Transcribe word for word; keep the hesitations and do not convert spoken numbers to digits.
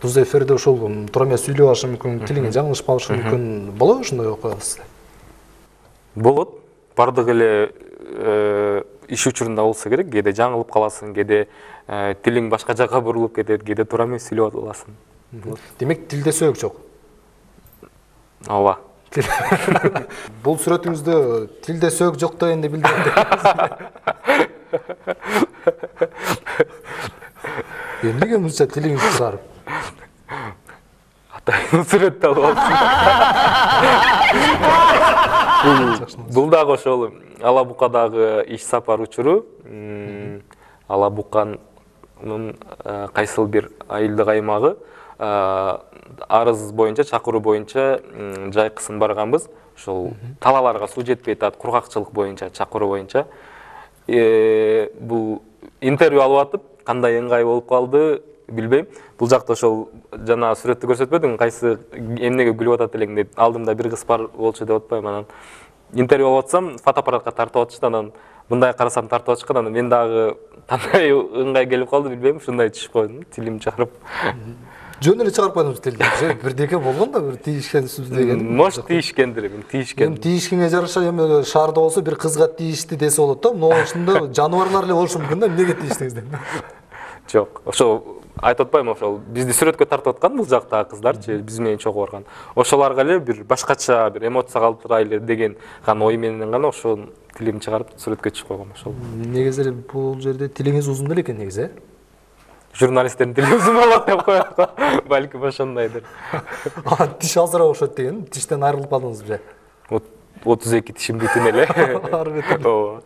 Туз эфирде ошол туура эмес сүйлөп алышы мүмкүн, тилиңе жаңылышып калышы мүмкүн. Болобу ошондой окуялар сизде? Болот. Бардык эле иш учурунда болсо керек. Кээде жаңылып каласың, кээде тилиң башка жакка бурулуп кетет, кээде туура эмес сүйлөп аласың. Демек тилде сөөгүк жок. Ооба. Бул сүрөтүңүздө тилде сөөгүк жок дегенди билдирет. Эмнеге мынча тилиңиз кызарып? Атайын сүрөттү алып алыпсың. Бул дагы ошол Ала Букадагы иш сапар учуру. Ала Буканын кайсыл бир айылдык аймагы арыз боюнча, чакыруу боюнча жайкысын барганбыз. Ошол талаларга суу жетпей атат, кургакчылык боюнча, чакыруу боюнча. Бул интервью алып атып, кандай ыңгай болуп калды билбейм. Бул жакта ошол жана сүрөттү көрсөтпөдүң, кайсы эмнеге күлүп атат элең деп, алдымда бир кыз бар болчу деп атпайм. Анан интервью алып атсам, фотоаппаратка тартып атышты, анан мындай карасам тартып атышкан, анан мен дагы кандай ыңгай келип калды билбейм, ушундай түшүп койдум, тилим чыгарып. Жөн эле чыгарып койдуңуз тилди. Бирдеке болгон да, бир тийишкенсиз деген. Мош тийишкендир, эми тийишкен. Эми тийишкенге жараша эми шаарда болсо бир кызга тийишти десе болот да. Но ошондо жаныбарлар эле болушу мүмкүн да, эмнеге тийиштиңиз деп. Жок, ошо айтып атпайм, ошол бизди сүрөткө тартып аткан бул жактагы кыздарчы, биз менен чогуу барган. Ошоларга эле бир башкача бир эмоция калтырайлы деген гана ой менен гана ошол тилим чыгарып сүрөткө түшүп койгом ошол. Негизи эле бул жерде тилиңиз узун эле экен негизи, э? Журналисттердин тили узун болот деп коет го. Балким ошондойдур. А тиш азыраак окшойт деген, тиштен айрылып калдыңыз беле? отуз эки тишим бүтүн эле. Ары бетер. Ооба.